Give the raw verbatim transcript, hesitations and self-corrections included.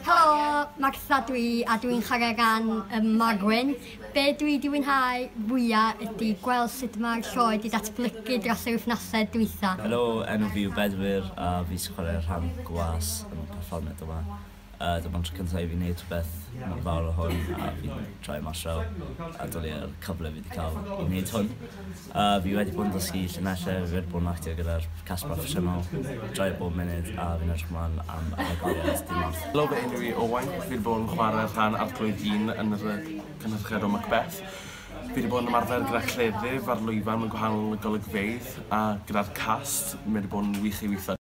Helo, Martha dwi a dwi'n chwarae ran um, Marwyn. Be dwi wedi fwynhau fwyaf ydy gweld sut mae'r sioe wedi datblygu dros yr wythnosau dwytha. Helo, enw fi yw Bedwyr a fi sy'n chwarae rhan gwas yn y perfformiad yma. Uh, Dyma'n tro cyntaf i fi wneud rhywbeth mor fawr o hwn a fi'n troi mas draw a dwlu ar cyfle fi wedi cael i wneud hwn. Uh, fi wedi bod yn dysgu llinellau, fi wedi bod yn actio gyda'r cast proffesiynol, droi bob munud a fi'n edrych ymlaen am yr agoriad dydd Mawrth. Helo, fy enw i Owain. Fi wedi bod yn chwarae rhan Arglwydd un yn yr cynhyrchiad o Macbeth. Fi wedi bod yn ymarfer gyda cleddyf ar lwyfan mewn gwahanol golygfeydd a gyda'r cast. Mae wedi bod yn wych i weithio.